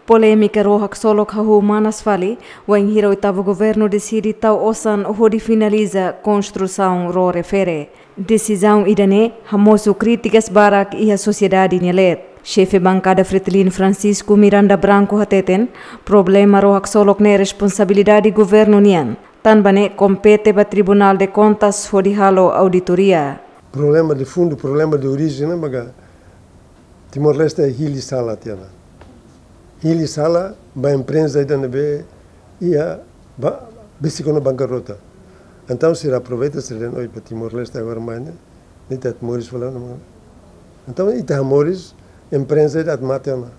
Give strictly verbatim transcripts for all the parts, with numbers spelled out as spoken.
Polémika ró haksolok hahú manas fali, wainhira oitavu governu deside tau osan hodi finaliza konstrusaun ró refere. Desizaun ida-ne'e hamosu krítikas barak iha sosiedade nia leet. Xefe bankada Fretilin Francisco Miranda Branco hateten, problema ró haksolok ne'e responsabilidade governu nian. Tanba ne'e kompete ba Tribunál de Kontas hodi halo auditoria. Problema de fundu, problema de orijen, ne'e maka Timor-Leste hili sala tiha ona. Hili sala ba empreza ida ne'ebé iha ba, besik ona bankarrota. Entaun sira aproveita, sira dehan: "Oi, ba Timor-Leste agora mai ne'e, ne'e ita moris fali ona." Entaun ita moris, empreza ida atu mate ona.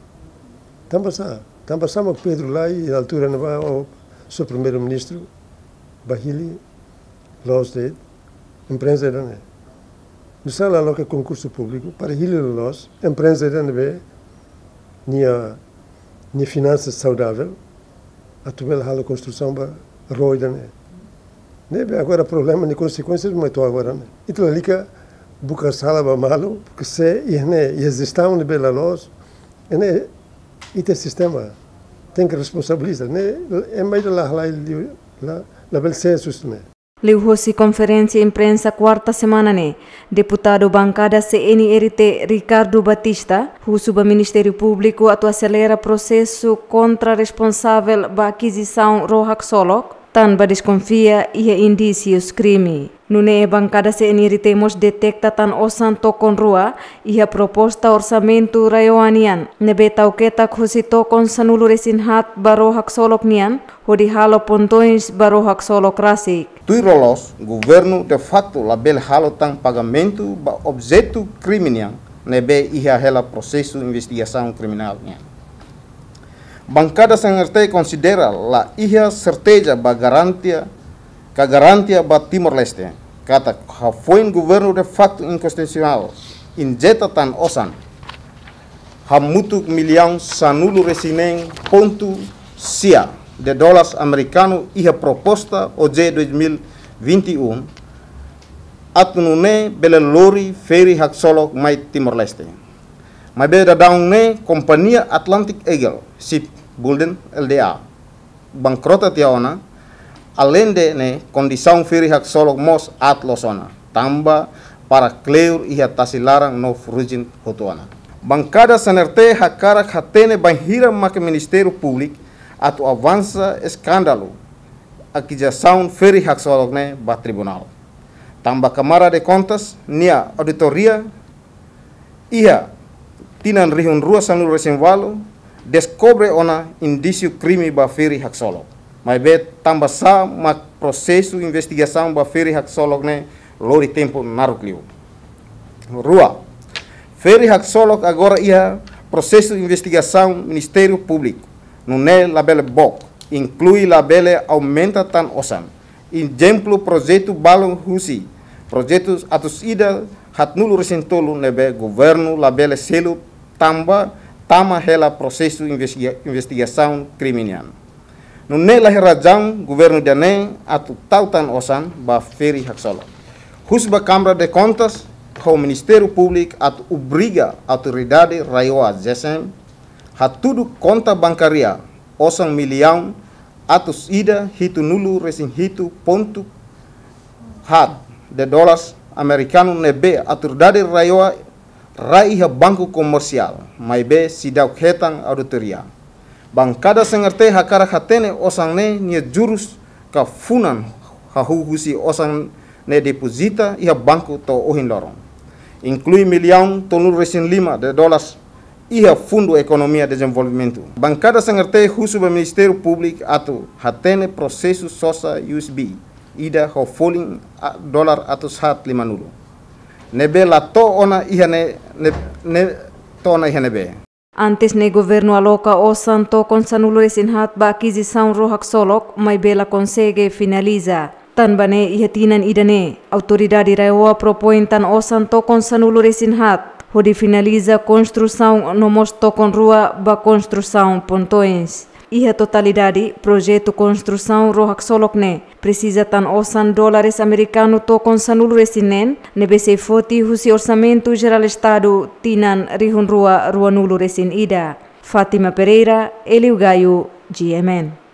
Tanba sá, tanba sá mak Pedro Lai, iha altura ne'ebá, o, só Primeiru-Ministru, ba hili loos de'it empreza ida-ne'e. Nu'usá la loke konkursu públiku para hili loos empreza ida ne'ebé nia, nia finansa saudavel, atu bele halo konstrusaun ba ró ida-ne'e. Ne'ebé agora problema nia konsekuénsia mai to'o agora ne'e. Ita lalika buka sala ba malu, porque se iha ne'e, iha jestaun ne'ebé la loos, ne'e ita sistema tenke responsabiliza, ne'e ema ida la halai liu, la, labele sees husi ne'e. Liuhosi konferénsia imprensa kuarta semana ne'e, deputadu bankada C N R T Ricardo Batista husu ba Ministériu Públiku atu aselera prosesu kontra responsavel ba akizisaun ró haksolok, tanba deskonfia iha indísius krime. Nune'e bankada C N R T mós deteta tan osan tokon rua iha proposta orsamentu RAEOA nian, ne'ebé tau ketak husi tokon sanulu-resin-haat ba ró haksolok nian, hodi halo pontoins ba ró haksolok rasik. Tuir loloos, governu de facto labele halo tan pagamentu ba objetu krime nian, ne'ebé iha hela prosesu investigasaun kriminál nian. Bankada C N R T konsidera la iha serteza ba garantia, ka garantia ba Timor-Leste, katak hafoin governu de facto inkonstitusionál injeta tan osan hamutuk millaun sanulu-resin-neen pontu sia de dólar amerikanu iha proposta O J dois mil e vinte e um, atu nune'e bele lori feri haksolok mai Timor-Leste. Maibé daudaun ne'e kompañia Atlantic Eagle Shipbuilding L D A bankrota tiha ona, aleinde ne'e kondisaun feri haksolok mós aat loos ona, tanba para kleur iha tasi laran no ferrujin hotu ona. Bankada C N R T hakarak hatene bainhira maka Ministériu Públiku atu avansa eskándalu akizisaun feri haksolok ne'e ba tribunál. Tanba Kámara de Kontas nia auditoria iha tinan rihun rua sanulu-resin-ualu deskobre ona indísiu krime ba feri haksolok. Maibé tanba sá mak prosesu investigasaun ba feri haksolok ne'e lori tempu naruk liu? Rua, feri haksolok agora iha prosesu investigasaun Ministériu Públiku, nune'e labele book, inklui labele aumenta tan osan. Ezemplu, projetu balun husi projetu atus ida haatnulu-resin-tolu ne'ebé governu labele selu tanba tama hela prosesu investiga-, investigasaun krime nian. Nune'e la iha razaun governu ida-ne'e atu tau tan osan ba feri haksolok. Husu ba Kámara de Kontas ho Ministériu Públiku atu obriga Autoridade RAEOA, G S M, hatudu konta bankária osan millaun atus ida hitunulu-resin-hitu pontu haat de dólar amerikanu ne'ebé Autoridade RAEOA rai iha banku komersiál, maibé seidauk hetan auditoria. Bankada C N R T hakarak hatene osan ne'e nia jurus ka funan hahú husi osan ne'e depozita iha banku to'o ohin loron. Inklui millaun tolunulu-resin-lima de dólar iha Fundu Ekonomia Dezenvolvimentu. Bankada C N R T husu ba Ministériu Públiku atu hatene prosesu sosa U S B ida ho folin a-, dólar atus haat limanulu, ne'ebé la to'o ona iha ne'e, ne'e, ne'e to'o ona iha ne'ebé. Antes ne'e governu aloka osan tokon sanulu-resin-haat ba akizisaun ró haksolok, maibé la konsege finaliza. Tanba ne'e iha tinan ida-ne'e, Autoridade RAEOA propoin tan osan tokon sanulu-resin-haat hodi finaliza konstrusaun no mós tokon rua ba konstrusaun pontoins. Iha totalidade, projetu konstrusaun ró haksolok ne'e presiza tan osan dólares amerikanu tokon sanulu-resin-neen, ne'ebé sei foti husi Orsamentu Jerál Estadu tinan rihun rua ruanulu-resin-ida. Fátima Pereira, Eliu Gayo, G M N.